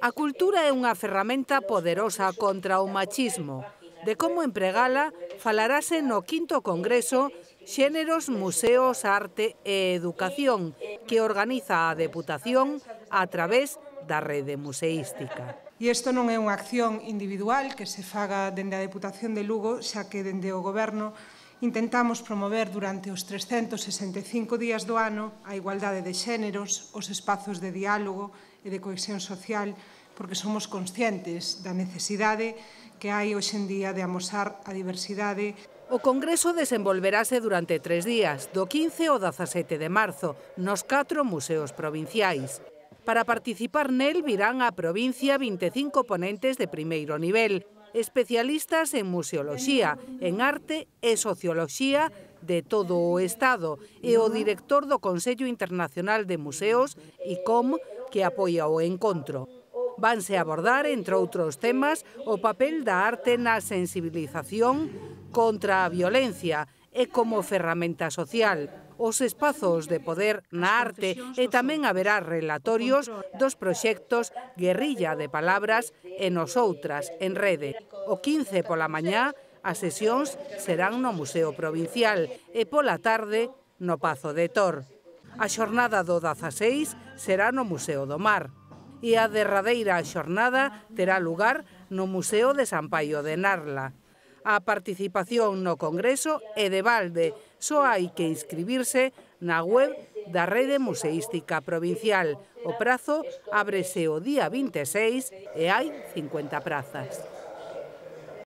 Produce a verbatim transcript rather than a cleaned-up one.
A cultura é unha ferramenta poderosa contra o machismo. De como empregala falarase no quinto Congreso Xéneros, Museos, Arte e Educación, que organiza a Deputación a través da Rede Museística. E isto non é unha acción individual que se faga dende a Deputación de Lugo, xa que dende o Goberno intentamos promover durante os trescentos sesenta e cinco días do ano a igualdade de xéneros, os espazos de diálogo e de cohesión social, porque somos conscientes da necesidade que hai hoxe en día de amosar a diversidade. O Congreso desenvolverase durante tres días, do quince ao dezasete de marzo, nos catro museos provinciais. Para participar nel virán á provincia vinte e cinco ponentes de primeiro nivel, especialistas en museoloxía, en arte e socioloxía de todo o Estado e o director do Consello Internacional de Museos, I C O M, que apoia o encontro. Vanse abordar, entre outros temas, o papel da arte na sensibilización contra a violencia e como ferramenta social, os espazos de poder na arte e tamén haberá relatorios dos proxectos Guerrilla de Palabras e Nosoutras en rede. O quince pola mañá as sesións serán no Museo Provincial e pola tarde no Pazo de Tor. A xornada do dezaseis será no Museo do Mar e a derradeira xornada terá lugar no Museo de San Paio de Narla. A participación no Congreso é de balde, só hai que inscribirse na web da Rede Museística Provincial. O prazo ábrese o día vinte e seis e hai cincuenta prazas.